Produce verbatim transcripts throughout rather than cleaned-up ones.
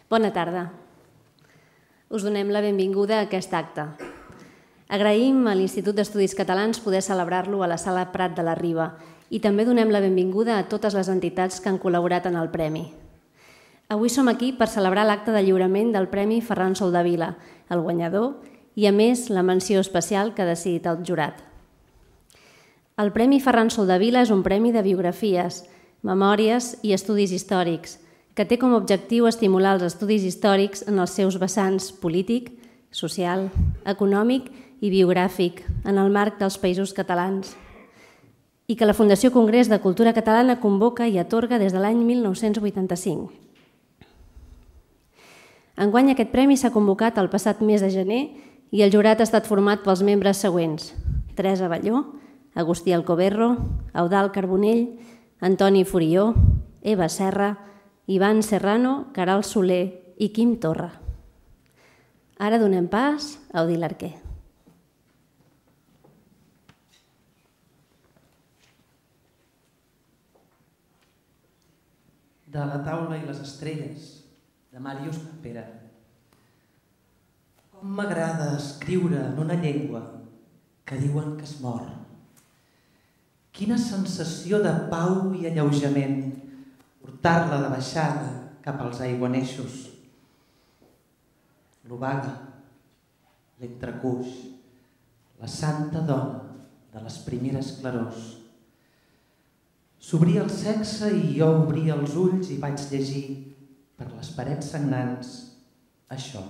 Bona tarda. Us donem la benvinguda a aquest acte. Agraïm a l'Institut d'Estudis Catalans poder celebrar-lo a la Sala Prat de la Riba i també donem la benvinguda a totes les entitats que han col·laborat en el Premi. Avui som aquí per celebrar l'acte de lliurament del Premi Ferran Soldevila, el guanyador, i a més la menció especial que ha decidit el jurat. El Premi Ferran Soldevila és un premi de biografies, memòries i estudis històrics, que té com a objectiu estimular els estudis històrics en els seus vessants polític, social, econòmic i biogràfic en el marc dels Països Catalans i que la Fundació Congrés de Cultura Catalana convoca i atorga des de l'any mil nou-cents vuitanta-cinc. Enguany aquest premi s'ha convocat el passat mes de gener i el jurat ha estat format pels membres següents: Teresa Balló, Agustí Alcoberro, Eudald Carbonell, Antoni Furió, Eva Serra, Ivan Serrano, Caral Soler i Quim Torra. Ara donem pas a Odil Arquer. De la taula i les estrelles, de Màrius Campera. Com m'agrada escriure en una llengua que diuen que es mor. Quina sensació de pau i alleujament portar-la de baixada cap als aiguaneixos. L'obaga, l'entrecuix, la santa dona de les primeres clarors. S'obria el sexe i jo obria els ulls i vaig llegir per les parets sagnants això.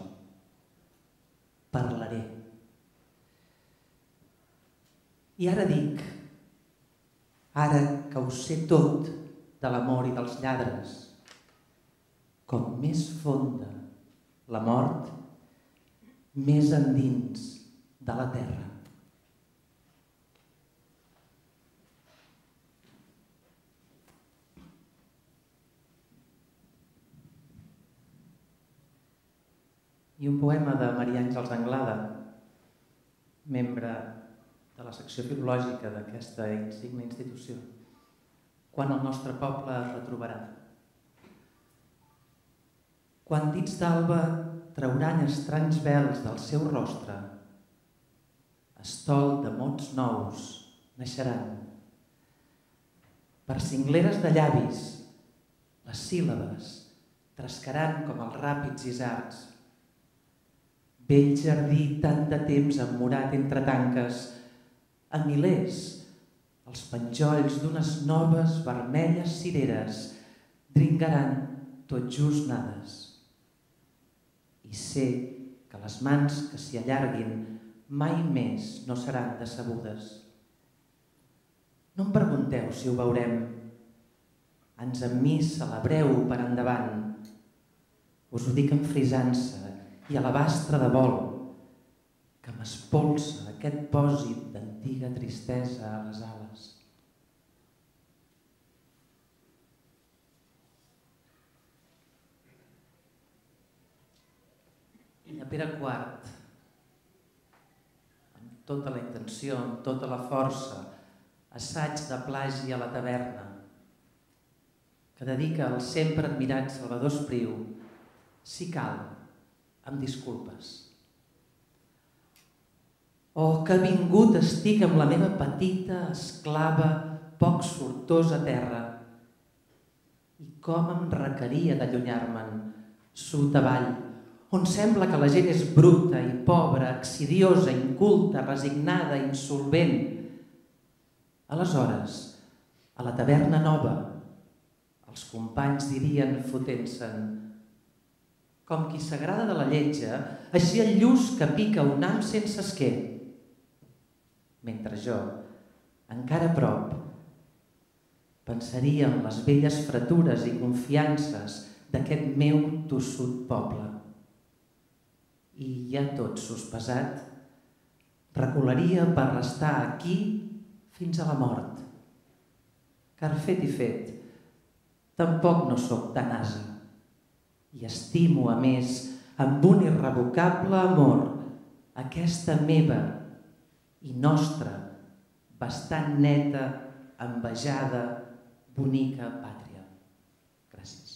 Parlaré. I ara dic, ara que ho sé tot de l'amor i dels lladres, com més fonda la mort, més endins de la terra. I un poema de Maria Àngels Anglada, membre de la secció filològica d'aquesta insigne institució. Quan el nostre poble es retrobarà. Quan dits d'alba trauran estranys vels del seu rostre, estol de mots nous naixeran. Per cingleres de llavis, les síl·labes trescaran com els ràpids isards. Vell jardí tant de temps emmurat entre tanques, a milers, els penjolls d'unes noves vermelles cireres dringaran tot just nades. I sé que les mans que s'hi allarguin mai més no seran decebudes. No em pregunteu si ho veurem. Ans amb mi celebreu per endavant. Us ho dic amb frisança i alabastre de vol, que m'espolsa aquest pòsit d'antiga tristesa a les ales. I de Pere quart, amb tota la intenció, amb tota la força, assaig de plagi a la taverna, que dedica al sempre admirat Salvador Espriu, si cal, amb disculpes. Oh, que vingut estic amb la meva petita, esclava, poc sortosa terra. I com em requeria d'allunyar-me'n, sud avall, on sembla que la gent és bruta i pobra, accidiosa, inculta, resignada, insolvent. Aleshores, a la taverna nova, els companys dirien fotent-se'n: com qui s'agrada de la lletja, així el lluç que pica un ham sense esquer. Mentre jo, encara a prop, pensaria en les velles fretures i confiances d'aquest meu tossut poble. I ja tot sospesat, recularia per restar aquí fins a la mort. Car fet i fet, tampoc no sóc tan ase. I estimo, a més, amb un irrevocable amor, aquesta meva i nostra, bastant neta, envejada, bonica pàtria. Gràcies.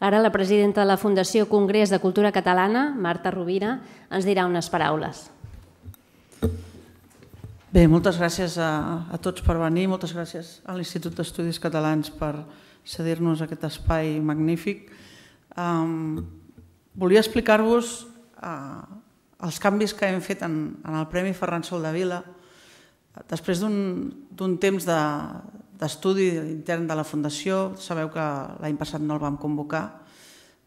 Ara la presidenta de la Fundació Congrés de Cultura Catalana, Marta Rovira, ens dirà unes paraules. Bé, moltes gràcies a, a tots per venir, moltes gràcies a l'Institut d'Estudis Catalans per cedir-nos aquest espai magnífic. Um, volia explicar-vos uh, els canvis que hem fet en, en el Premi Ferran Soldevila. Després d'un temps d'estudi de, intern de la Fundació, sabeu que l'any passat no el vam convocar,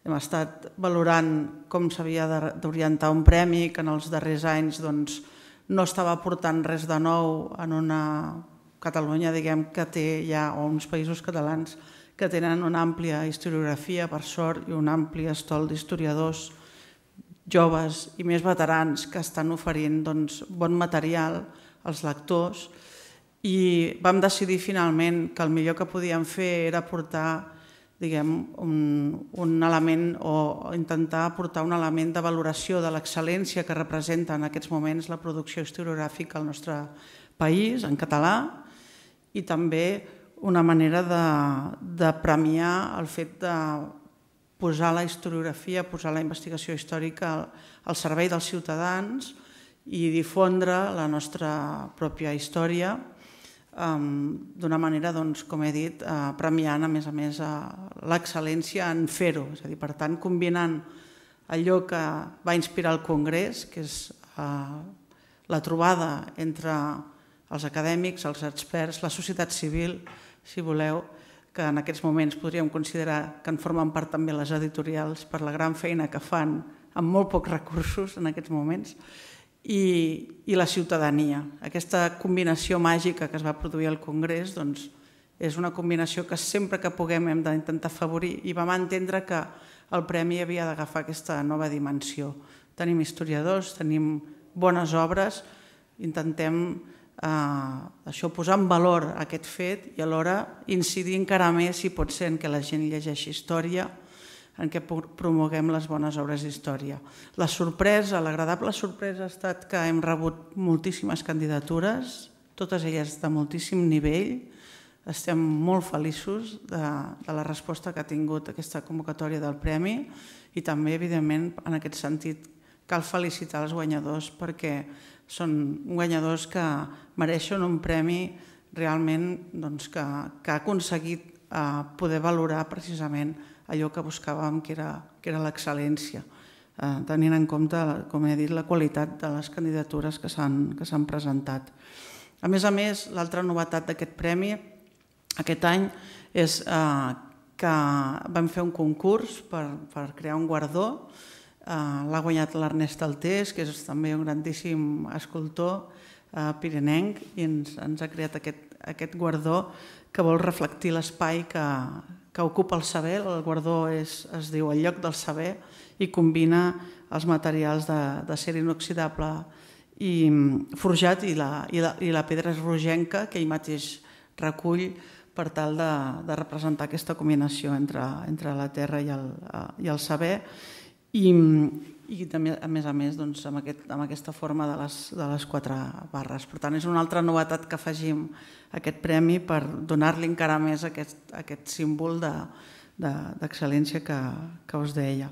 hem estat valorant com s'havia d'orientar un premi que en els darrers anys doncs, no estava aportant res de nou en una Catalunya diguem, que té ja, o uns països catalans que tenen una àmplia historiografia, per sort, i un ampli estol d'historiadors joves i més veterans que estan oferint doncs, bon material als lectors, i vam decidir finalment que el millor que podíem fer era aportar diguem, un, un element o intentar aportar un element de valoració de l'excel·lència que representa en aquests moments la producció historiogràfica al nostre país, en català, i també una manera de, de premiar el fet de posar la historiografia, posar la investigació històrica al, al servei dels ciutadans i difondre la nostra pròpia història um, d'una manera, doncs, com he dit, uh, premiant, a més a més, uh, l'excel·lència en fer-ho. És a dir, per tant, combinant allò que va inspirar el Congrés, que és uh, la trobada entre els acadèmics, els experts, la societat civil, si voleu, que en aquests moments podríem considerar que en formen part també les editorials per la gran feina que fan amb molt pocs recursos en aquests moments, i, i la ciutadania. Aquesta combinació màgica que es va produir al Congrés doncs, és una combinació que sempre que puguem hem d'intentar afavorir, i vam entendre que el premi havia d'agafar aquesta nova dimensió. Tenim historiadors, tenim bones obres, intentem Uh, això posar en valor aquest fet i alhora incidir encara més, si pot ser, en què la gent llegeixi història, en què promoguem les bones obres d'història. La sorpresa, l'agradable sorpresa ha estat que hem rebut moltíssimes candidatures, totes elles de moltíssim nivell. Estem molt feliços de, de la resposta que ha tingut aquesta convocatòria del premi, i també, evidentment, en aquest sentit, cal felicitar els guanyadors perquè són guanyadors que mereixen un premi realment doncs, que, que ha aconseguit eh, poder valorar precisament allò que buscàvem, que era, que era l'excel·lència, eh, tenint en compte, com he dit, la qualitat de les candidatures que s'han que s'han presentat. A més a més, l'altra novetat d'aquest premi aquest any és eh, que vam fer un concurs per, per crear un guardó. Uh, l'ha guanyat l'Ernest Altés, que és també un grandíssim escultor uh, pirinenc, i ens, ens ha creat aquest, aquest guardó que vol reflectir l'espai que, que ocupa el saber. El guardó és, es diu El lloc del saber i combina els materials d'acer inoxidable i forjat i la, i, la, i la pedra rogenca que ell mateix recull per tal de, de representar aquesta combinació entre, entre la terra i el, uh, i el saber. I, i també, a més a més, doncs, amb, aquest, amb aquesta forma de les, de les quatre barres. Per tant, és una altra novetat que afegim a aquest premi per donar-li encara més aquest, aquest símbol d'excel·lència de, de, que, que us deia.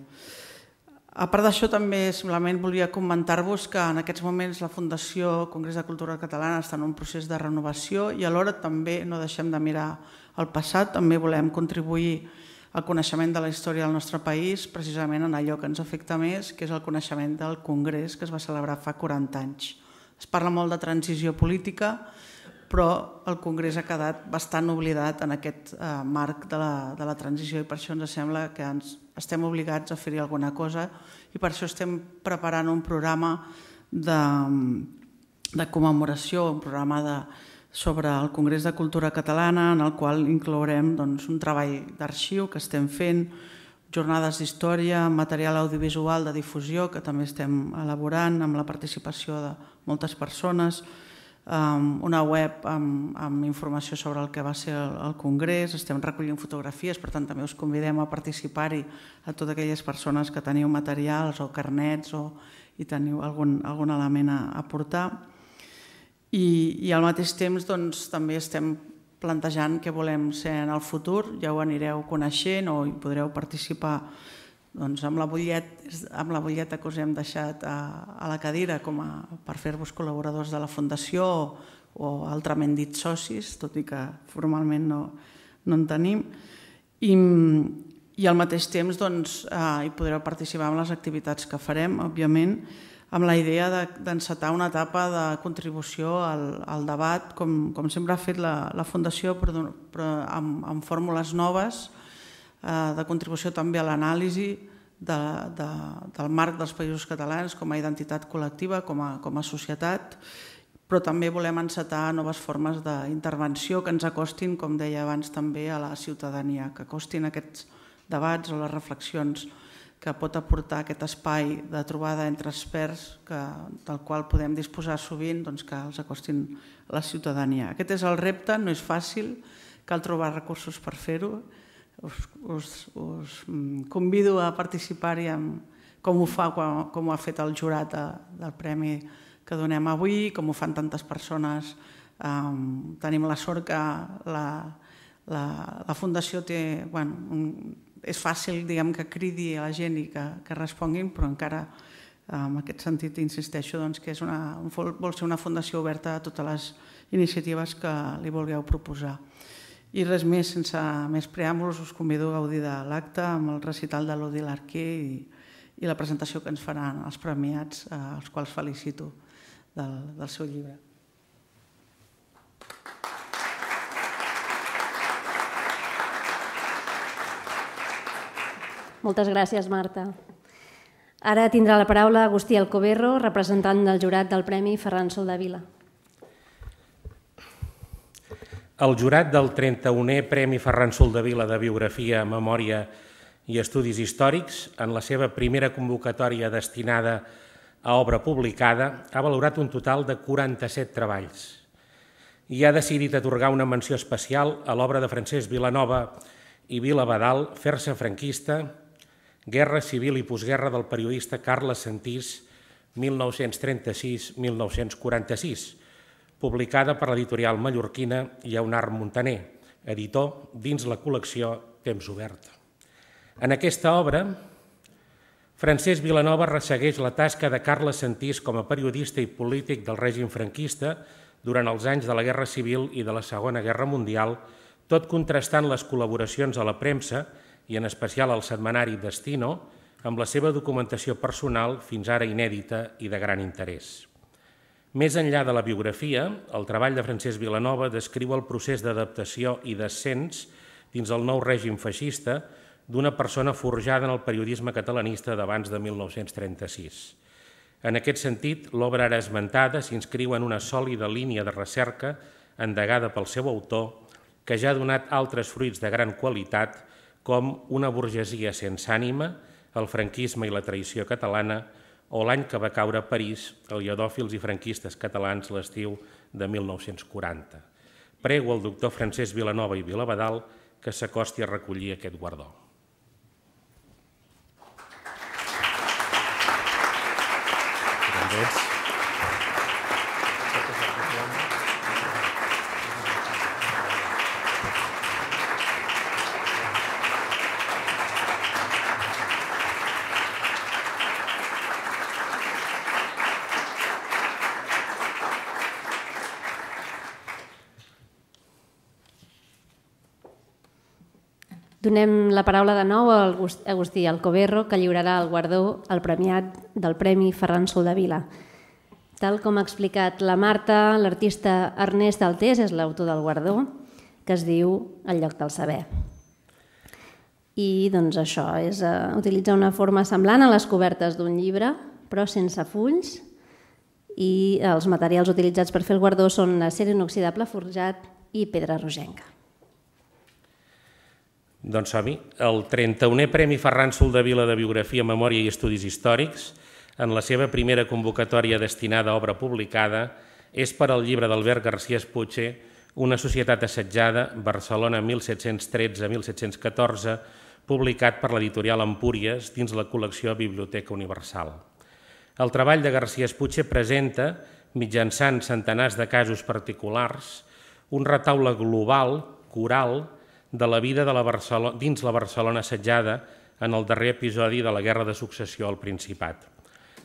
A part d'això, també simplement volia comentar-vos que en aquests moments la Fundació Congrés de Cultura Catalana està en un procés de renovació i alhora també no deixem de mirar al passat, també volem contribuir el coneixement de la història del nostre país, precisament en allò que ens afecta més, que és el coneixement del Congrés que es va celebrar fa quaranta anys. Es parla molt de transició política, però el Congrés ha quedat bastant oblidat en aquest eh, marc de la, de la transició, i per això ens sembla que ens estem obligats a fer-hi alguna cosa, i per això estem preparant un programa de, de commemoració, un programa de sobre el Congrés de Cultura Catalana, en el qual inclourem doncs, un treball d'arxiu que estem fent, jornades d'història, material audiovisual de difusió que també estem elaborant amb la participació de moltes persones, una web amb, amb informació sobre el que va ser el, el Congrés, estem recollint fotografies, per tant també us convidem a participar-hi a totes aquelles persones que teniu materials o carnets o i teniu algun, algun element a aportar. I, i al mateix temps doncs, també estem plantejant què volem ser en el futur, ja ho anireu coneixent o hi podreu participar amb la butlleta que us hem deixat a la cadira per fer-vos col·laboradors de la Fundació o altrament dit socis, tot i que formalment no en tenim. I al mateix temps hi podreu participar en les activitats que farem, òbviament, amb la idea d'encetar una etapa de contribució al debat, com sempre ha fet la Fundació, però amb fórmules noves, de contribució també a l'anàlisi del marc dels Països Catalans com a identitat col·lectiva, com a societat, però també volem encetar noves formes d'intervenció que ens acostin, com deia abans també, a la ciutadania, que acostin aquests debats o les reflexions que pot aportar aquest espai de trobada entre experts del qual podem disposar sovint, que els acostin a la ciutadania. Aquest és el repte, no és fàcil, cal trobar recursos per fer-ho. Us convido a participar-hi com ho fa, com ho ha fet el jurat del premi que donem avui, com ho fan tantes persones. Tenim la sort que la Fundació té... És fàcil que cridi a la gent i que responguin, però encara en aquest sentit insisteixo que vol ser una fundació oberta a totes les iniciatives que li vulgueu proposar. I res més, sense més preàmbuls, us convido a gaudir de l'acte amb el recital de l'Odil Arquer i la presentació que ens faran els premiats, els quals felicito del seu llibre. Moltes gràcies, Marta. Ara tindrà la paraula Agustí Alcoberro, representant del jurat del Premi Ferran Soldevila. El jurat del trenta-unè Premi Ferran Soldevila de Biografia, Memòria i Estudis Històrics, en la seva primera convocatòria destinada a obra publicada, ha valorat un total de quaranta-set treballs i ha decidit atorgar una menció especial a l'obra de Francesc Vilanova i Vila Badal, Fer-se franquista, Guerra civil i postguerra del periodista Carles Sentís, mil nou-cents trenta-sis a mil nou-cents quaranta-sis, publicada per l'editorial mallorquina Lleonard Montaner, editor dins la col·lecció Temps Obert. En aquesta obra, Francesc Vilanova ressegueix la tasca de Carles Sentís com a periodista i polític del règim franquista durant els anys de la Guerra Civil i de la Segona Guerra Mundial, tot contrastant les col·laboracions a la premsa i en especial al setmanari Destino, amb la seva documentació personal fins ara inèdita i de gran interès. Més enllà de la biografia, el treball de Francesc Vilanova descriu el procés d'adaptació i d'ascens dins el nou règim feixista d'una persona forjada en el periodisme catalanista d'abans de mil nou-cents trenta-sis. En aquest sentit, l'obra ara esmentada s'inscriu en una sòlida línia de recerca endegada pel seu autor, que ja ha donat altres fruits de gran qualitat, com Una burgesia sense ànima, el franquisme i la traïció catalana, o L'any que va caure a París, el lledòfils i franquistes catalans l'estiu de mil nou-cents quaranta. Prego al doctor Francesc Vilanova i Vilabadal que s'acosti a recollir aquest guardó. Gràcies. Donem la paraula de nou a Agustí Alcoberro, que lliurarà el guardó al premiat del Premi Ferran Soldevila. Tal com ha explicat la Marta, l'artista Ernest Altés és l'autor del guardó, que es diu El lloc del saber. I doncs això, és utilitzar una forma semblant a les cobertes d'un llibre, però sense fulls, i els materials utilitzats per fer el guardó són acer inoxidable forjat i pedra rogenca. Doncs som-hi. El trenta-unè Premi Ferran Soldevila de Biografia, Memòria i Estudis Històrics, en la seva primera convocatòria destinada a obra publicada, és per al llibre d'Albert García Espuche, Una societat assetjada, Barcelona mil set-cents tretze a mil set-cents catorze, publicat per l'editorial Empúries dins la col·lecció Biblioteca Universal. El treball de García Espuche presenta, mitjançant centenars de casos particulars, un retaule global, coral, de la vida de la Barcelona, dins la Barcelona assetjada en el darrer episodi de la Guerra de Successió al Principat.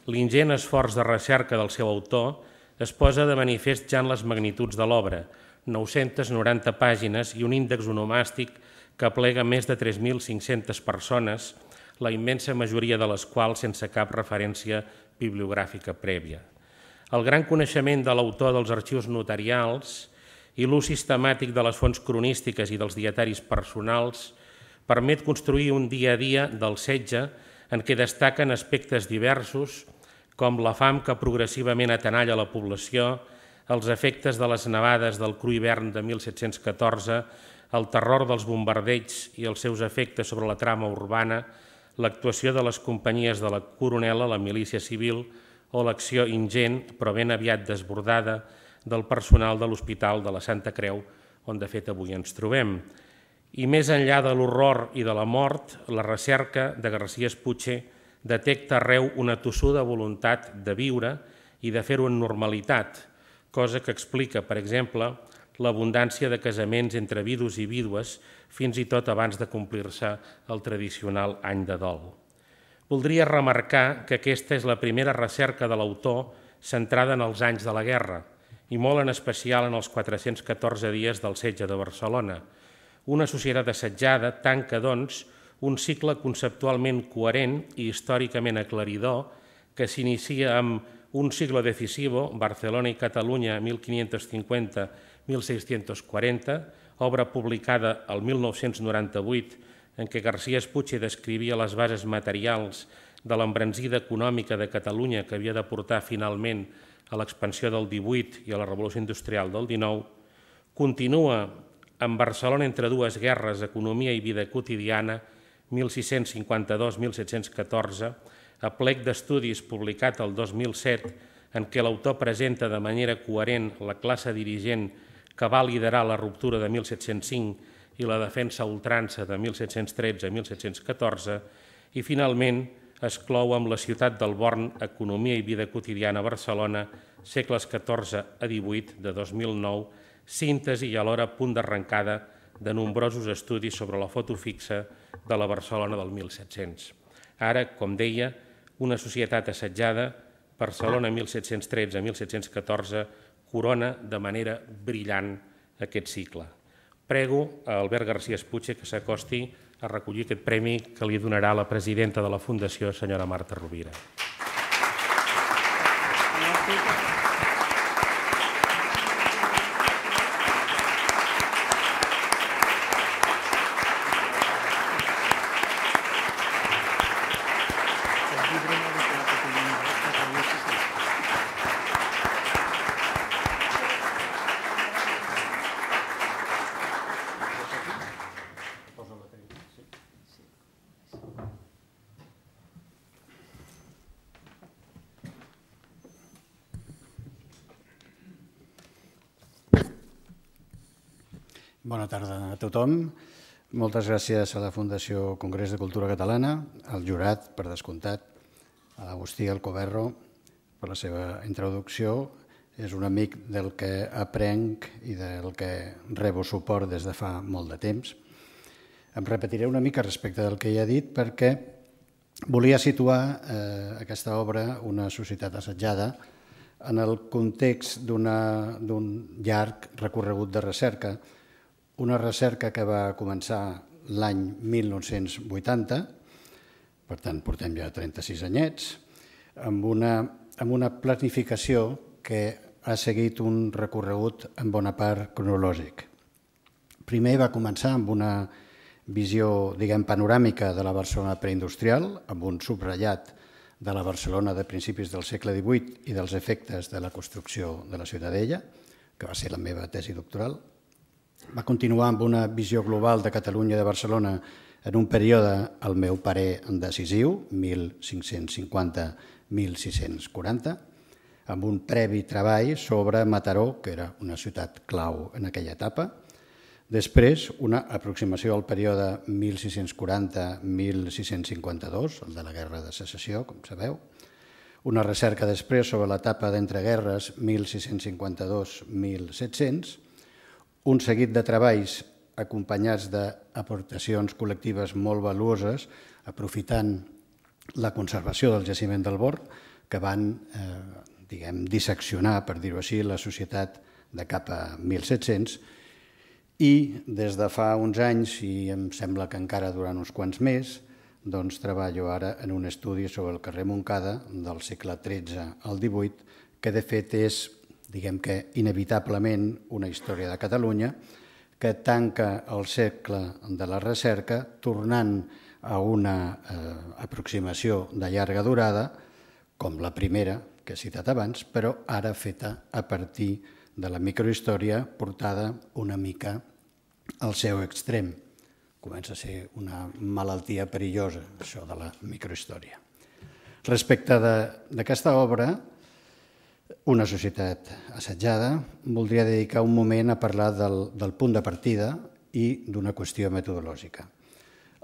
L'ingent esforç de recerca del seu autor es posa de manifest ja en les magnituds de l'obra, nou-centes noranta pàgines i un índex onomàstic que aplega més de tres mil cinc-centes persones, la immensa majoria de les quals sense cap referència bibliogràfica prèvia. El gran coneixement de l'autor dels arxius notarials i l'ús sistemàtic de les fonts cronístiques i dels dietaris personals permet construir un dia a dia del setge en què destaquen aspectes diversos com la fam que progressivament atenalla la població, els efectes de les nevades del cru hivern de mil set-cents catorze, el terror dels bombardeigs i els seus efectes sobre la trama urbana, l'actuació de les companyies de la Coronela, la milícia civil, o l'acció ingent, però ben aviat desbordada, del personal de l'Hospital de la Santa Creu, on de fet avui ens trobem. I més enllà de l'horror i de la mort, la recerca de García Espuche detecta arreu una tossuda voluntat de viure i de fer-ho en normalitat, cosa que explica, per exemple, l'abundància de casaments entre vidus i vídues fins i tot abans de complir-se el tradicional any de dol. Voldria remarcar que aquesta és la primera recerca de l'autor centrada en els anys de la guerra i molt en especial en els quatre-cents catorze dies del setge de Barcelona. Una societat assetjada tanca, doncs, un cicle conceptualment coherent i històricament aclaridor que s'inicia amb un siglo decisivo, Barcelona i Catalunya, mil quinientos cincuenta a mil seiscientos quaranta, obra publicada el mil nou-cents noranta-vuit, en què García Espuche descrivia les bases materials de l'embranzida econòmica de Catalunya que havia de portar finalment a l'expansió del divuit i a la revolució industrial del dinou, continua amb Barcelona entre dues guerres, economia i vida quotidiana, mil sis-cents cinquanta-dos a mil set-cents catorze, a plec d'estudis publicat el dos mil set, en què l'autor presenta de manera coherent la classe dirigent que va liderar la ruptura de mil set-cents cinc i la defensa a ultrança de mil set-cents tretze a mil set-cents catorze, i finalment es clou amb la ciutat del Born, economia i vida quotidiana a Barcelona, segles catorze a divuit, de dos mil nou, síntesi i alhora punt d'arrencada de nombrosos estudis sobre la foto fixa de la Barcelona del mil set-cents. Ara, com deia, una societat assetjada, Barcelona mil set-cents tretze a mil set-cents catorze, corona de manera brillant aquest cicle. Prego a Albert García Espuche que s'acosti a recollir aquest premi que li donarà la presidenta de la Fundació, senyora Marta Rovira. Bona tarda a tothom. Moltes gràcies a la Fundació Congrés de Cultura Catalana, al jurat, per descomptat, a l'Agustí Alcoberro per la seva introducció. És un amic del que aprenc i del que rebo suport des de fa molt de temps. Em repetiré una mica respecte del que ja he dit perquè volia situar eh, aquesta obra, Una societat assetjada, en el context d'un llarg recorregut de recerca, una recerca que va començar l'any mil nou-cents vuitanta, per tant portem ja trenta-sis anyets, amb una, amb una planificació que ha seguit un recorregut en bona part cronològic. Primer va començar amb una visió, diguem, panoràmica de la Barcelona preindustrial, amb un subratllat de la Barcelona de principis del segle divuit i dels efectes de la construcció de la Ciutadella, que va ser la meva tesi doctoral. Va continuar amb una visió global de Catalunya i de Barcelona en un període, al meu parer, decisiu, mil cinc-cents cinquanta a mil sis-cents quaranta, amb un previ treball sobre Mataró, que era una ciutat clau en aquella etapa. Després, una aproximació al període mil sis-cents quaranta a mil sis-cents cinquanta-dos, el de la Guerra de Secessió, com sabeu. Una recerca després sobre l'etapa d'entreguerres mil sis-cents cinquanta-dos a mil set-cents, un seguit de treballs acompanyats d'aportacions col·lectives molt valuoses, aprofitant la conservació del jaciment del Bor, que van eh, diguem, disseccionar, per dir-ho així, la societat de cap a mil set-cents, i des de fa uns anys, i em sembla que encara durant uns quants més, doncs treballo ara en un estudi sobre el carrer Montcada del segle tretze al divuit, que de fet és, diguem que inevitablement, una història de Catalunya, que tanca el segle de la recerca tornant a una eh, aproximació de llarga durada, com la primera que he citat abans, però ara feta a partir de la microhistòria portada una mica al seu extrem. Comença a ser una malaltia perillosa, això de la microhistòria. Respecte d'aquesta obra, Una societat assetjada, voldria dedicar un moment a parlar del, del punt de partida i d'una qüestió metodològica.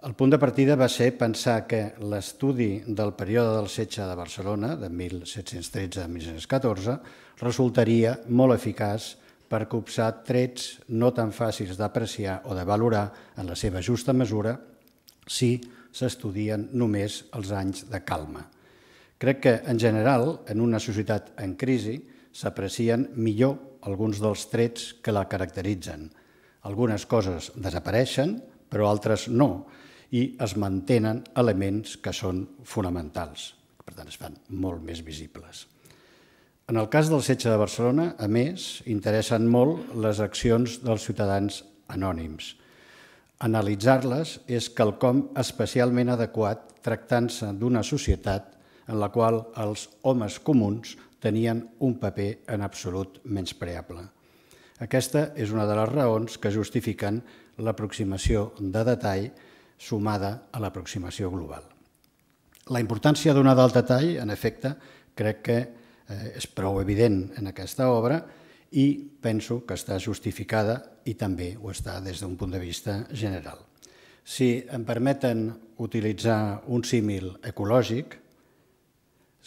El punt de partida va ser pensar que l'estudi del període del setge de Barcelona, de mil set-cents tretze a mil set-cents catorze, resultaria molt eficaç per copsar trets no tan fàcils d'apreciar o de valorar en la seva justa mesura si s'estudien només els anys de calma. Crec que, en general, en una societat en crisi, s'aprecien millor alguns dels trets que la caracteritzen. Algunes coses desapareixen, però altres no, i es mantenen elements que són fonamentals, que per tant es fan molt més visibles. En el cas del setge de Barcelona, a més, interessen molt les accions dels ciutadans anònims. Analitzar-les és quelcom especialment adequat tractant-se d'una societat en la qual els homes comuns tenien un paper en absolut menyspreable. Aquesta és una de les raons que justifiquen l'aproximació de detall sumada a l'aproximació global. La importància donada al detall, en efecte, crec que és prou evident en aquesta obra i penso que està justificada i també ho està des d'un punt de vista general. Si em permeten utilitzar un símil ecològic,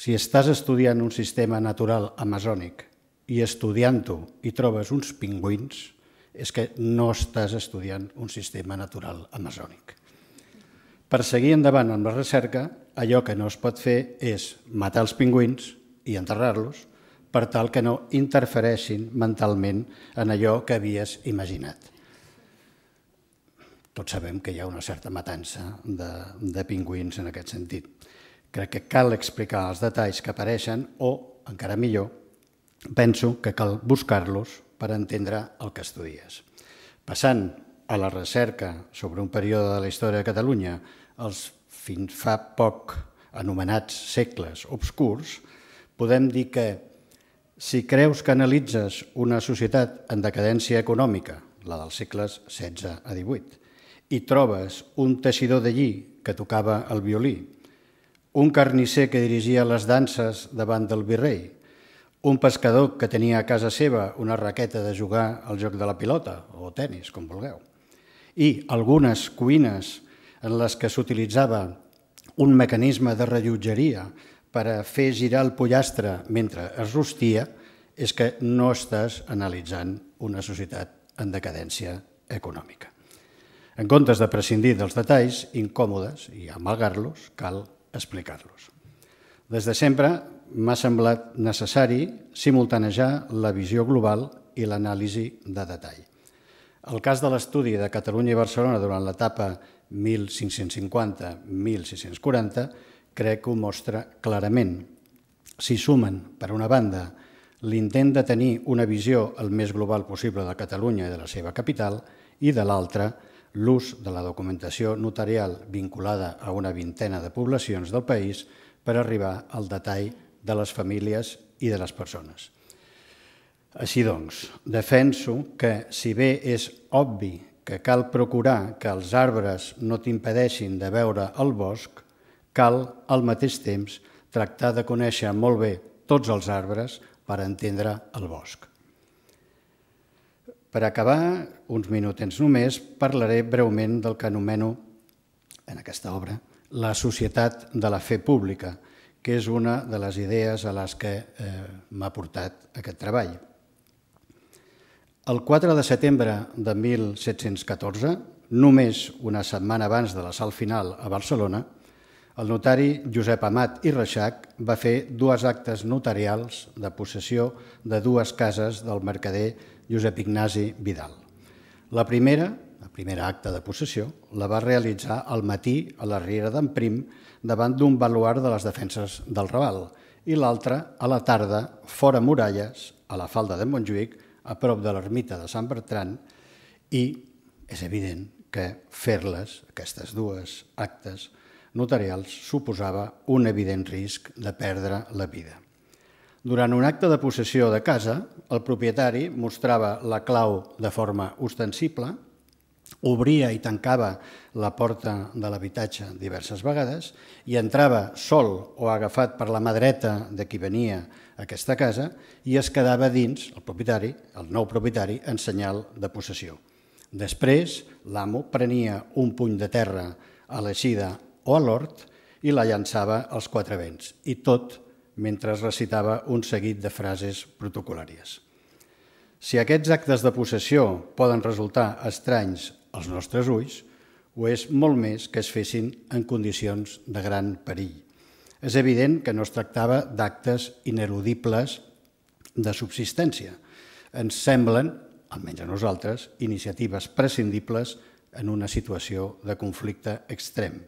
si estàs estudiant un sistema natural amazònic i estudiant-ho i trobes uns pingüins, és que no estàs estudiant un sistema natural amazònic. Per seguir endavant amb la recerca, allò que no es pot fer és matar els pingüins i enterrar-los per tal que no interfereixin mentalment en allò que havies imaginat. Tots sabem que hi ha una certa matança de, de pingüins en aquest sentit. Crec que cal explicar els detalls que apareixen o, encara millor, penso que cal buscar-los per entendre el que estudies. Passant a la recerca sobre un període de la història de Catalunya, els fins fa poc anomenats segles obscurs, podem dir que si creus que analitzes una societat en decadència econòmica, la dels segles setze a divuit, i trobes un teixidor de lli que tocava el violí, un carnisser que dirigia les danses davant del virrei, un pescador que tenia a casa seva una raqueta de jugar al joc de la pilota, o tenis, com vulgueu, i algunes cuines en les que s'utilitzava un mecanisme de rellotgeria per a fer girar el pollastre mentre es rostia, és que no estàs analitzant una societat en decadència econòmica. En comptes de prescindir dels detalls incòmodes i amalgar-los, cal explicar-los. Des de sempre m'ha semblat necessari simultanejar la visió global i l'anàlisi de detall. El cas de l'estudi de Catalunya i Barcelona durant l'etapa mil cinc-cents cinquanta a mil sis-cents quaranta crec que ho mostra clarament. S'hi sumen, per una banda, l'intent de tenir una visió el més global possible de Catalunya i de la seva capital i, de l'altra, l'ús de la documentació notarial vinculada a una vintena de poblacions del país per arribar al detall de les famílies i de les persones. Així doncs, defenso que, si bé és obvi que cal procurar que els arbres no t'impedeixin de veure el bosc, cal, al mateix temps, tractar de conèixer molt bé tots els arbres per entendre el bosc. Per acabar, uns minutets només, parlaré breument del que anomeno, en aquesta obra, la societat de la fe pública, que és una de les idees a les que m'ha portat aquest treball. El quatre de setembre de mil set-cents catorze, només una setmana abans de l'assalt final a Barcelona, el notari Josep Amat i Reixac va fer dues actes notarials de possessió de dues cases del mercader Josep Ignasi Vidal. La primera, la primera acta de possessió, la va realitzar al matí a la Riera d'en Prim davant d'un baluard de les defenses del Raval i l'altra a la tarda fora muralles, a la falda de Montjuïc, a prop de l'ermita de Sant Bertran, i és evident que fer-les, aquestes dues actes notarials, suposava un evident risc de perdre la vida. Durant un acte de possessió de casa, el propietari mostrava la clau de forma ostensible, obria i tancava la porta de l'habitatge diverses vegades i entrava sol o agafat per la mà dreta de qui venia a aquesta casa i es quedava dins, el propietari, el nou propietari, en senyal de possessió. Després, l'amo prenia un puny de terra a l'eixida o a l'hort i la llançava als quatre vents, i tot mentre recitava un seguit de frases protocolàries. Si aquests actes de possessió poden resultar estranys als nostres ulls, ho és molt més que es fessin en condicions de gran perill. És evident que no es tractava d'actes ineludibles de subsistència. Ens semblen, almenys a nosaltres, iniciatives prescindibles en una situació de conflicte extrem.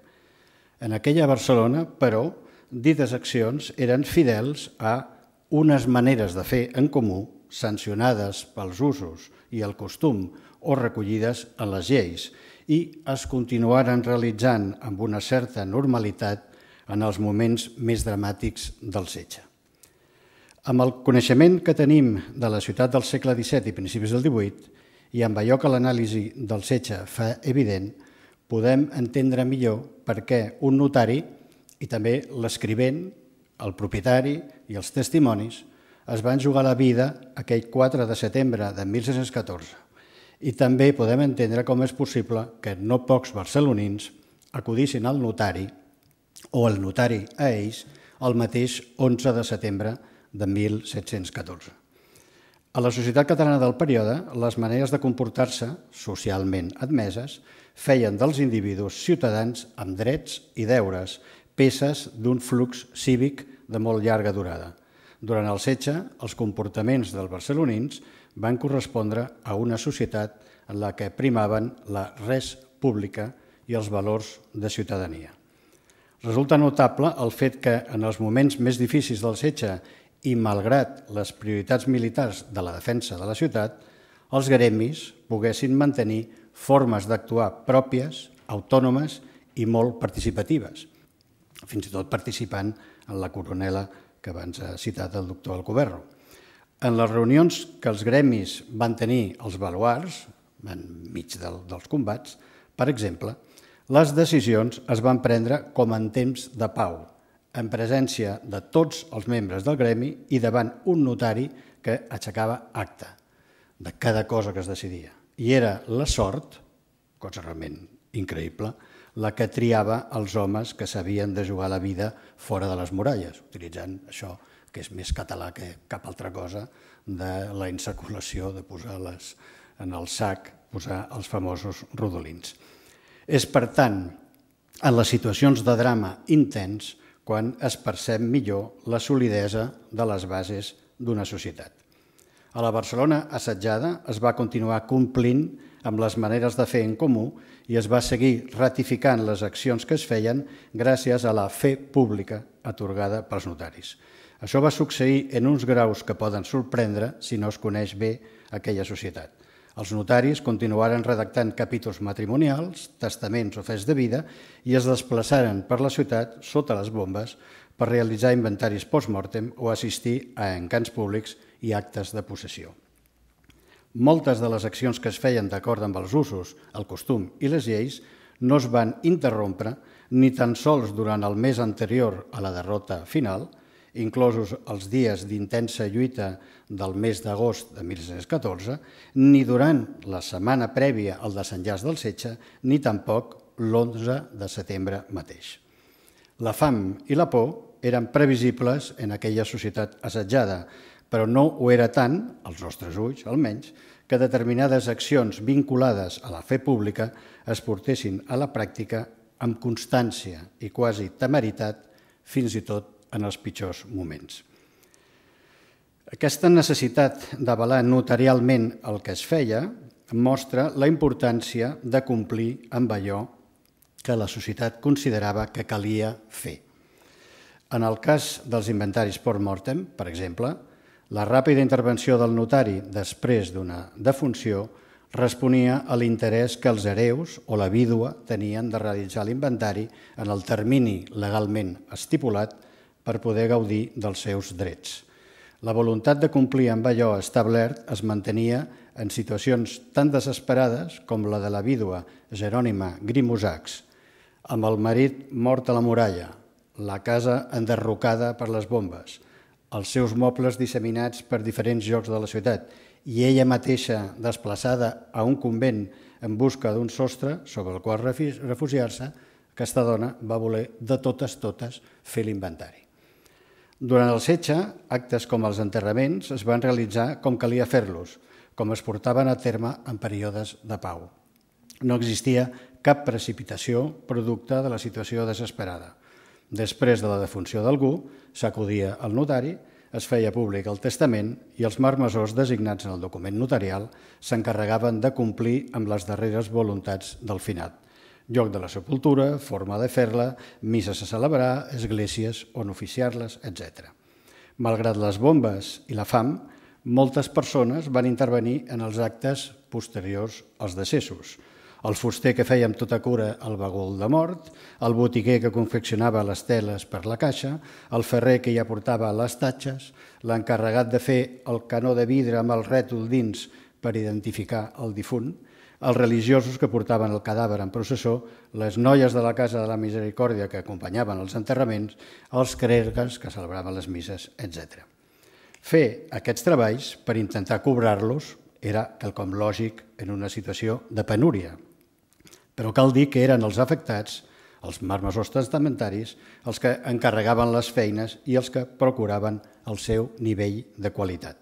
En aquella Barcelona, però, dites accions eren fidels a unes maneres de fer en comú sancionades pels usos i el costum o recollides en les lleis i es continuaren realitzant amb una certa normalitat en els moments més dramàtics del setge. Amb el coneixement que tenim de la ciutat del segle disset i principis del divuit i amb allò que l'anàlisi del setge fa evident, podem entendre millor per què un notari i també l'escrivent, el propietari i els testimonis es van jugar la vida aquell quatre de setembre de mil set-cents catorze. I també podem entendre com és possible que no pocs barcelonins acudissin al notari o el notari a ells el mateix onze de setembre de mil set-cents catorze. A la societat catalana del període, les maneres de comportar-se, socialment admeses, feien dels individus ciutadans amb drets i deures, peces d'un flux cívic de molt llarga durada. Durant el setge, els comportaments dels barcelonins van correspondre a una societat en la que primaven la res pública i els valors de ciutadania. Resulta notable el fet que en els moments més difícils del setge i malgrat les prioritats militars de la defensa de la ciutat, els gremis poguessin mantenir formes d'actuar pròpies, autònomes i molt participatives, fins i tot participant en la coronela que abans ha citat el doctor Alcoberro. En les reunions que els gremis van tenir als baluars, enmig dels combats, per exemple, les decisions es van prendre com en temps de pau, en presència de tots els membres del gremi i davant un notari que aixecava acta de cada cosa que es decidia. I era la sort, cosa realment increïble, la que triava els homes que s'havien de jugar la vida fora de les muralles, utilitzant això que és més català que cap altra cosa de la insaculació de posar les, en el sac, posar els famosos rodolins. És, per tant, en les situacions de drama intens quan es percep millor la solidesa de les bases d'una societat. A la Barcelona assetjada es va continuar complint amb les maneres de fer en comú i es va seguir ratificant les accions que es feien gràcies a la fe pública atorgada pels notaris. Això va succeir en uns graus que poden sorprendre si no es coneix bé aquella societat. Els notaris continuaren redactant capítols matrimonials, testaments o fets de vida i es desplaçaren per la ciutat sota les bombes per realitzar inventaris post-mortem o assistir a encants públics i actes de possessió. Moltes de les accions que es feien d'acord amb els usos, el costum i les lleis no es van interrompre ni tan sols durant el mes anterior a la derrota final, inclosos els dies d'intensa lluita del mes d'agost de mil set-cents catorze, ni durant la setmana prèvia al desenllaç del setge, ni tampoc l'onze de setembre mateix. La fam i la por eren previsibles en aquella societat assetjada, però no ho era tant, als nostres ulls almenys, que determinades accions vinculades a la fe pública es portessin a la pràctica amb constància i quasi temeritat, fins i tot en els pitjors moments. Aquesta necessitat d'avalar notarialment el que es feia mostra la importància de complir amb allò que la societat considerava que calia fer. En el cas dels inventaris post-mortem, per exemple, la ràpida intervenció del notari després d'una defunció responia a l'interès que els hereus o la vídua tenien de realitzar l'inventari en el termini legalment estipulat per poder gaudir dels seus drets. La voluntat de complir amb allò establert es mantenia en situacions tan desesperades com la de la vídua Jerònima Grimosachs, amb el marit mort a la muralla, la casa enderrocada per les bombes, els seus mobles disseminats per diferents llocs de la ciutat i ella mateixa desplaçada a un convent en busca d'un sostre sobre el qual refugiar-se, aquesta dona va voler de totes totes fer l'inventari. Durant el setge, actes com els enterraments es van realitzar com calia fer-los, com es portaven a terme en períodes de pau. No existia cap precipitació producte de la situació desesperada. Després de la defunció d'algú, s'acudia al notari, es feia públic el testament i els marmessors designats en el document notarial s'encarregaven de complir amb les darreres voluntats del finat. Lloc de la sepultura, forma de fer-la, misses a celebrar, esglésies on oficiar-les, etcètera. Malgrat les bombes i la fam, moltes persones van intervenir en els actes posteriors als decessos. El fuster que feia amb tota cura el bagul de mort, el botiguer que confeccionava les teles per la caixa, el ferrer que hi aportava les tatxes, l'encarregat de fer el canó de vidre amb el rètol dins per identificar el difunt, els religiosos que portaven el cadàver en processó, les noies de la Casa de la Misericòrdia que acompanyaven els enterraments, els clergues que celebraven les misses, etcètera. Fer aquests treballs per intentar cobrar-los era quelcom lògic en una situació de penúria. Però cal dir que eren els afectats, els marmessors testamentaris, els que encarregaven les feines i els que procuraven el seu nivell de qualitat.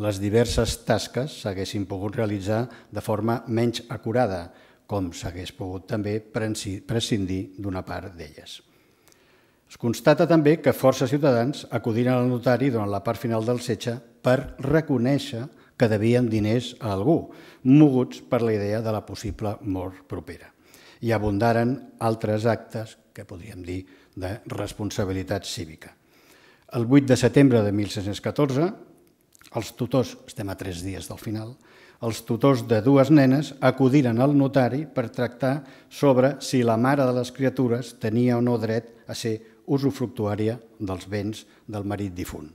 Les diverses tasques s'haguessin pogut realitzar de forma menys acurada, com s'hagués pogut també prescindir d'una part d'elles. Es constata també que força ciutadans acudiren al notari durant la part final del setge per reconèixer que devien diners a algú, moguts per la idea de la possible mort propera. I abundaren altres actes que podríem dir de responsabilitat cívica. El vuit de setembre de mil set-cents catorze, els tutors, estem a tres dies del final, els tutors de dues nenes acudiren al notari per tractar sobre si la mare de les criatures tenia o no dret a ser usufructuària dels béns del marit difunt.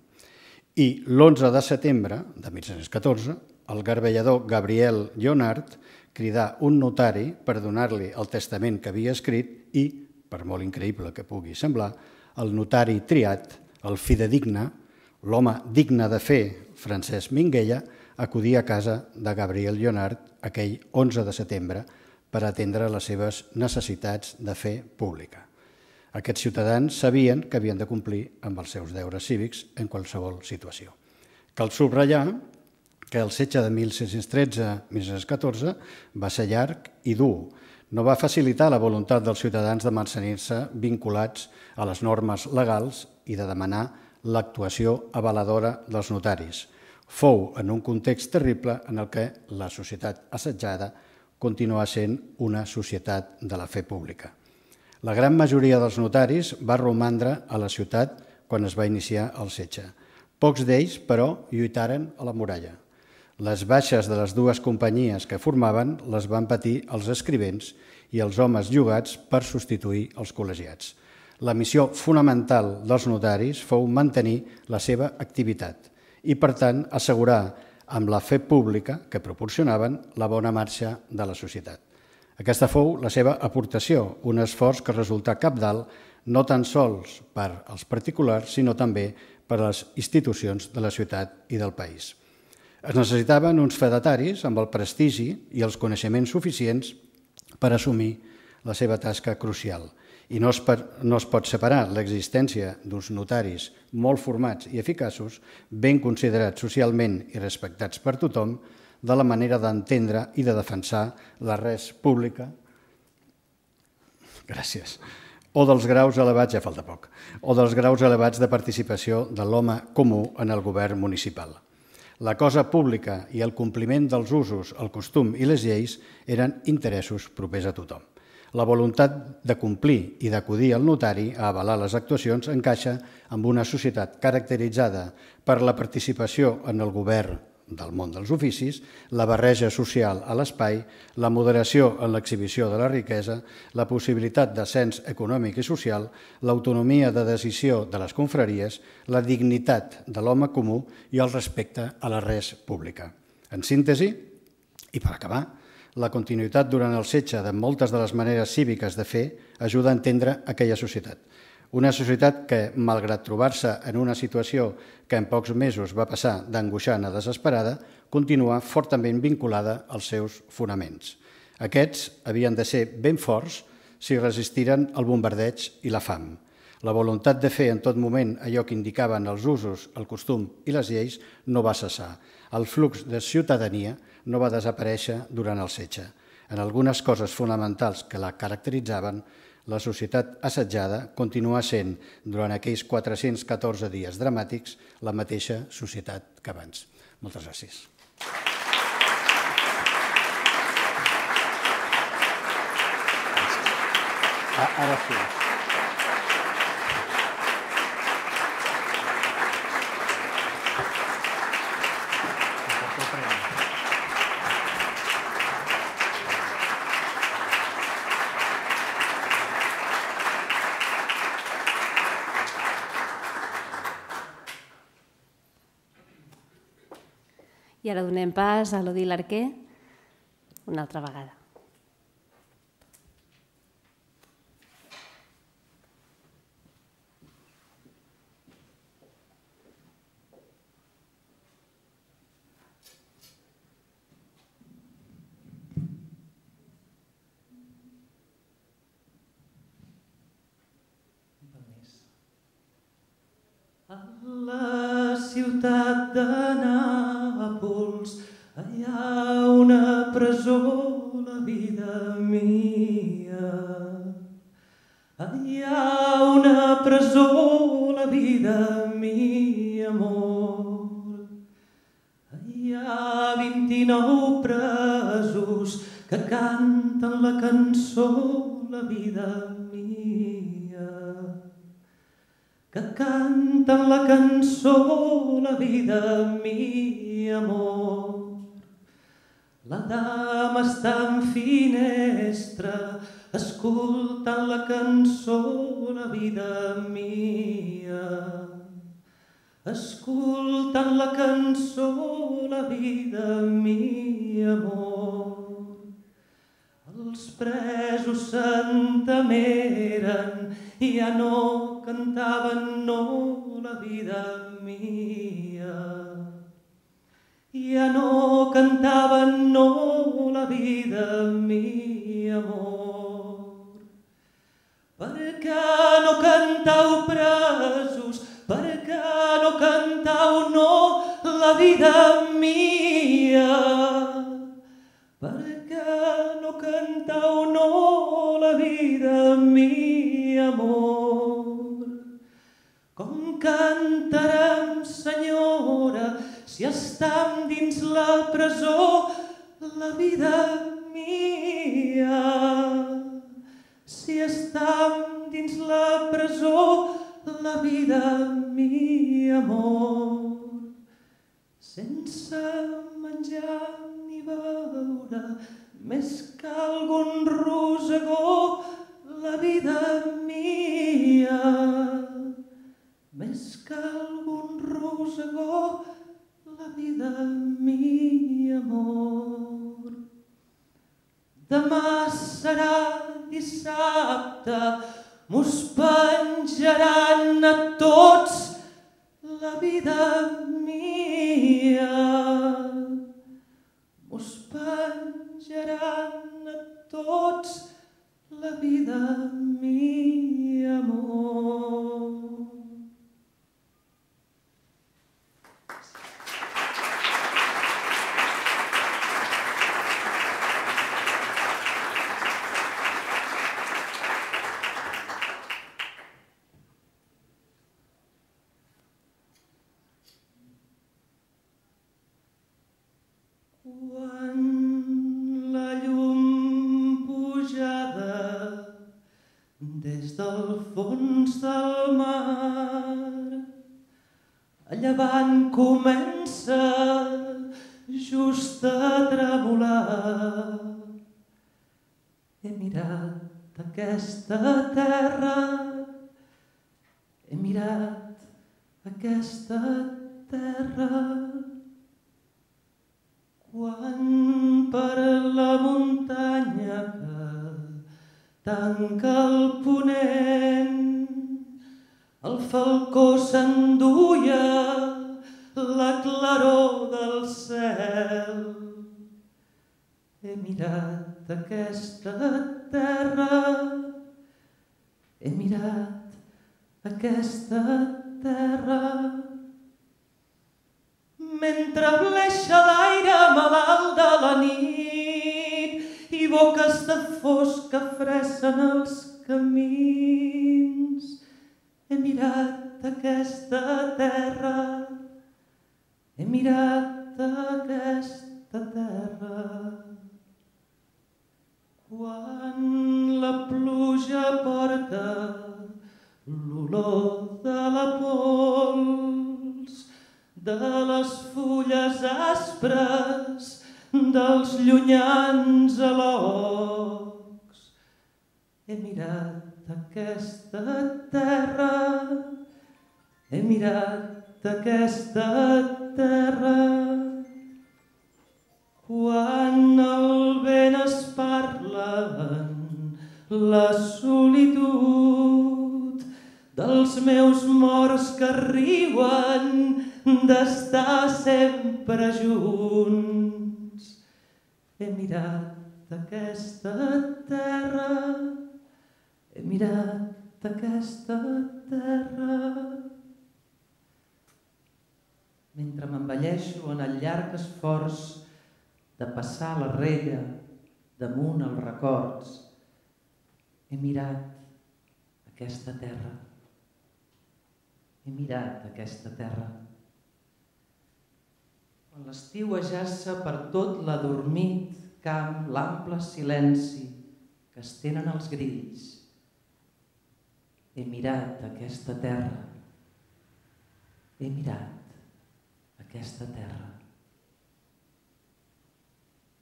I l'onze de setembre de mil set-cents catorze, el garbellador Gabriel Lleonard cridà un notari per donar-li el testament que havia escrit i, per molt increïble que pugui semblar, el notari triat, el fidedigne, l'home digne de fer, Francesc Minguella, acudia a casa de Gabriel Lleonard aquell onze de setembre per atendre les seves necessitats de fe pública. Aquests ciutadans sabien que havien de complir amb els seus deures cívics en qualsevol situació. Cal subratllar que el setge de mil set-cents tretze a mil set-cents catorze va ser llarg i dur. No va facilitar la voluntat dels ciutadans de mantenir-se vinculats a les normes legals i de demanar l'actuació avaladora dels notaris. Fou en un context terrible en el que la societat assetjada continua sent una societat de la fe pública. La gran majoria dels notaris va romandre a la ciutat quan es va iniciar el setge. Pocs d'ells, però, lluitaren a la muralla. Les baixes de les dues companyies que formaven les van patir els escrivents i els homes llogats per substituir els col·legiats. La missió fonamental dels notaris fou mantenir la seva activitat i, per tant, assegurar amb la fe pública que proporcionaven la bona marxa de la societat. Aquesta fou la seva aportació, un esforç que resultà cabdal no tan sols per als particulars, sinó també per a les institucions de la ciutat i del país. Es necessitaven uns fedataris amb el prestigi i els coneixements suficients per assumir la seva tasca crucial. I no es, per, no es pot separar l'existència d'uns notaris molt formats i eficaços, ben considerats socialment i respectats per tothom, de la manera d'entendre i de defensar la res pública, gràcies, o dels graus elevats, ja falta poc, o dels graus elevats de participació de l'home comú en el govern municipal. La cosa pública i el compliment dels usos, el costum i les lleis eren interessos propers a tothom. La voluntat de complir i d'acudir al notari a avalar les actuacions encaixa amb una societat caracteritzada per la participació en el govern del món dels oficis, la barreja social a l'espai, la moderació en l'exhibició de la riquesa, la possibilitat d'ascens econòmic i social, l'autonomia de decisió de les confraries, la dignitat de l'home comú i el respecte a la res pública. En síntesi, i per acabar, la continuïtat durant el setge de moltes de les maneres cíviques de fer ajuda a entendre aquella societat. Una societat que, malgrat trobar-se en una situació que en pocs mesos va passar d'angoixant a desesperada, continua fortament vinculada als seus fonaments. Aquests havien de ser ben forts si resistiren el bombardeig i la fam. La voluntat de fer en tot moment allò que indicaven els usos, el costum i les lleis no va cessar. El flux de ciutadania no va desaparèixer durant el setge. En algunes coses fonamentals que la caracteritzaven, la societat assetjada continua sent, durant aquells quatre-cents catorze dies dramàtics, la mateixa societat que abans. Moltes gràcies. Ara sí. I ara donem pas a l'Odil Arquer una altra vegada. A la ciutat de Nàpols hi ha una presó, la vida mia. Hi ha una presó, la vida mia, amor. Hi ha vint-i-nou presos que canten la cançó, la vida mia. Que canten la cançó, la vida mia, amor. La dama està en finestra, escoltant la cançó, la vida mia. Escoltant la cançó, la vida mia, amor. Els presos s'entemeren i ja no cantaven, no, la vida mia. Ja no cantaven, no, la vida mia, amor. Per què no cantau, presos? Per què no cantau, no, la vida mia? Per què no cantau, no, la vida mia, amor? Com cantarem, senyora, si estem dins la presó, la vida mia? Si estem dins la presó, la vida mia, amor. Sense menjar ni beure, més que algun rosegó, la vida mia. Més que algun rosegó, la vida mia, amor. Demà serà dissabte, mos penjaran a tots, la vida mia. Mos penjaran a tots, la vida mia, amor. Quan la llum pujada des del fons del mar a llevant comença just a tremolar. He mirat aquesta terra, he mirat aquesta terra. Quan per la muntanya que tanca el ponent el falcó s'enduia la claror del cel. He mirat aquesta terra, he mirat aquesta terra. Mentre bleixa l'aire malalt de la nit i boques de fosca fressen els camins, he mirat aquesta terra, he mirat aquesta terra. Quan la pluja porta l'olor de la pols, de les fulles aspres, dels llunyans alocs, he mirat aquesta terra, he mirat aquesta terra. Quan el vent es parla en la solitud dels meus morts que riuen d'estar sempre junts, he mirat aquesta terra, he mirat aquesta terra. Mentre m'envelleixo en el llarg esforç de passar la rella damunt els records, he mirat aquesta terra, he mirat aquesta terra. Quan l'estiu ajaça per tot l'adormit camp l'ample silenci que estenen els grills, he mirat aquesta terra, he mirat aquesta terra.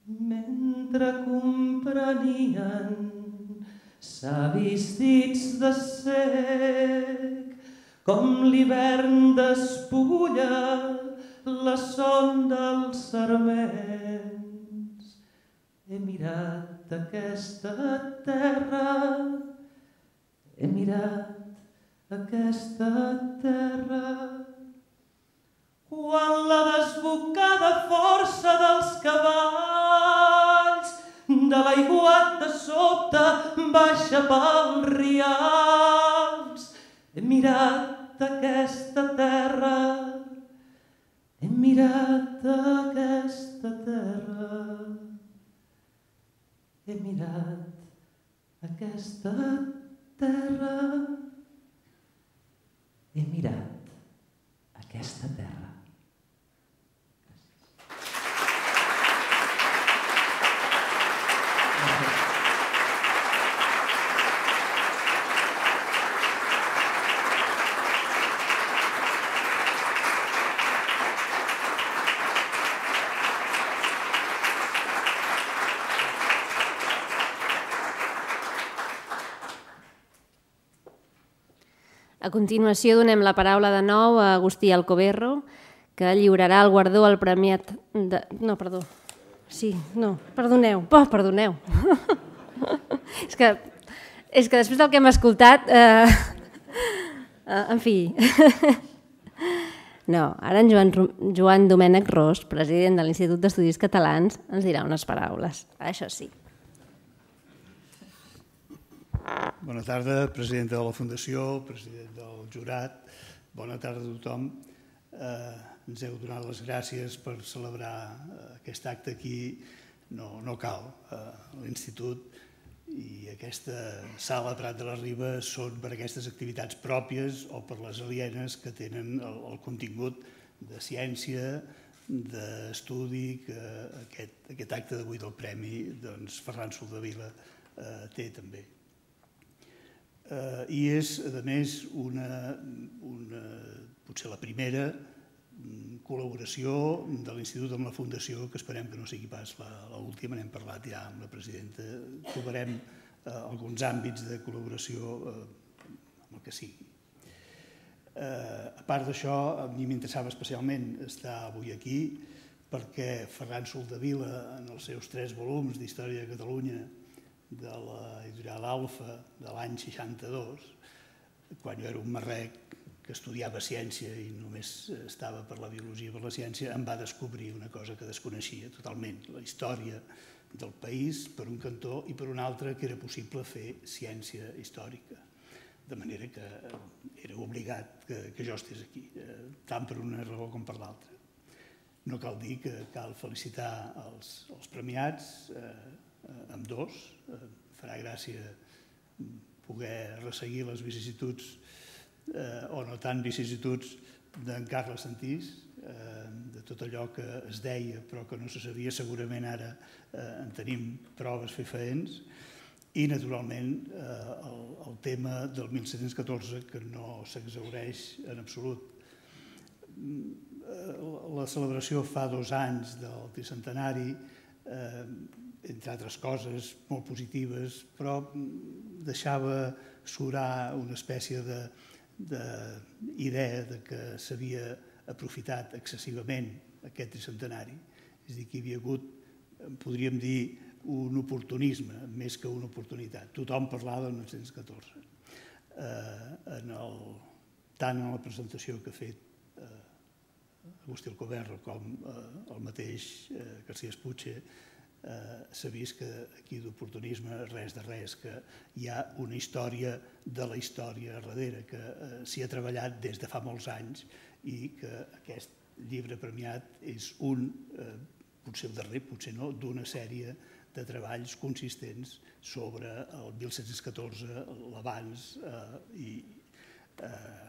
Mentre comprenien savis dits de cec com l'hivern despulla la son dels sarments, he mirat aquesta terra, he mirat aquesta terra. Quan la desbocada força dels cavalls de l'aiguat de sota baixa pels rials, he mirat aquesta terra, he mirat aquesta terra, he mirat aquesta terra, he mirat aquesta terra. A continuació donem la paraula de nou a Agustí Alcoberro, que lliurarà el guardó al premiat de... No, perdó. Sí, no, perdoneu. Oh, perdoneu. és, que, és que després del que hem escoltat... Eh, eh, en fi... no, ara en Joan, Joan Domènec Ros, president de l'Institut d'Estudis Catalans, ens dirà unes paraules. Això sí. Bona tarda, presidenta de la Fundació, president del jurat, bona tarda a tothom. Eh, ens heu donat les gràcies per celebrar aquest acte aquí. No, no cal. Eh, L'Institut i aquesta sala Prat de la Riba són per aquestes activitats pròpies o per les alienes que tenen el, el contingut de ciència, d'estudi que aquest, aquest acte d'avui del Premi doncs, Ferran Soldevila eh, té també. Eh, I és, a més, una, una, potser la primera col·laboració de l'Institut amb la Fundació, que esperem que no sigui pas l'última, n'hem parlat ja amb la presidenta, trobarem eh, alguns àmbits de col·laboració eh, amb el que sigui. Eh, a part d'això, a mi m'interessava especialment estar avui aquí perquè Ferran Soldevila, en els seus tres volums d'Història de Catalunya de l'editorial Alfa de l'any seixanta-dos, quan jo era un marrec que estudiava ciència i només estava per la biologia i per la ciència, em va descobrir una cosa que desconeixia totalment, la història del país per un cantó i per un altre que era possible fer ciència històrica. De manera que era obligat que, que jo estés aquí, tant per una raó com per l'altra. No cal dir que cal felicitar els, els premiats, eh, amb dos. Eh, farà gràcia poder resseguir les vicissituds eh, o no tan vicissituds d'en Carles Santís, eh, de tot allò que es deia però que no se sabia, segurament ara eh, en tenim proves fefaents, i naturalment eh, el, el tema del mil set-cents catorze que no s'exhaureix en absolut. La celebració fa dos anys del tricentenari, eh, entre altres coses molt positives, però deixava surar una espècie d'idea de que s'havia aprofitat excessivament aquest tricentenari. És a dir, que hi havia hagut, podríem dir, un oportunisme més que una oportunitat. Tothom parlava del mil set-cents catorze. Eh, en el, tant en la presentació que ha fet eh, Agustí Alcoverro com eh, el mateix eh, García Espuche, eh, s'ha vist que aquí d'oportunisme res de res, que hi ha una història de la història darrere, que eh, s'hi ha treballat des de fa molts anys i que aquest llibre premiat és un, eh, potser el darrer, potser no, d'una sèrie de treballs consistents sobre el mil set-cents catorze, l'abans eh, i eh,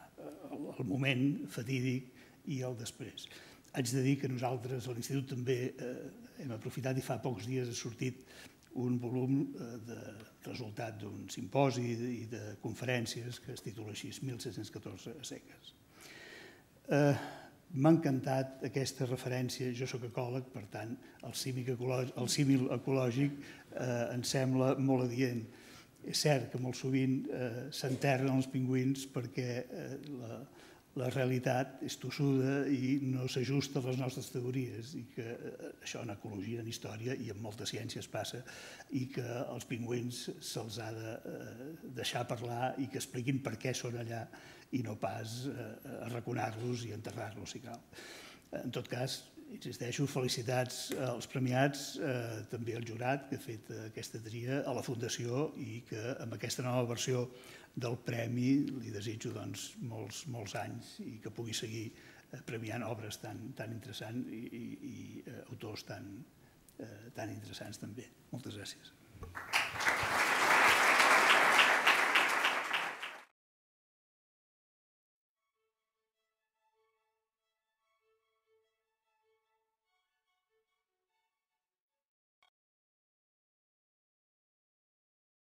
el moment fatídic i el després. Haig de dir que nosaltres a l'Institut també eh, hem aprofitat i fa pocs dies ha sortit un volum eh, de resultat d'un simposi i de conferències que es titula així, mil set-cents catorze a seques. Eh, M'ha encantat aquesta referència, jo soc ecòleg, per tant, el símil ecològic, el símil ecològic eh, em sembla molt adient. És cert que molt sovint eh, s'enterren els pingüins perquè eh, la, la realitat és tossuda i no s'ajusta a les nostres teories, i que eh, això en ecologia, en història i en moltes ciències passa, i que als pingüins se'ls ha de eh, deixar parlar i que expliquin per què són allà i no pas eh, arraconar-los i enterrar-los, si cal. En tot cas, insisteixo, felicitats als premiats, eh, també al jurat que ha fet aquesta tria, a la Fundació, i que amb aquesta nova versió del premi li desitjo doncs, molts, molts anys i que pugui seguir eh, premiant obres tan, tan interessants i, i, i eh, autors tan, eh, tan interessants també. Moltes gràcies.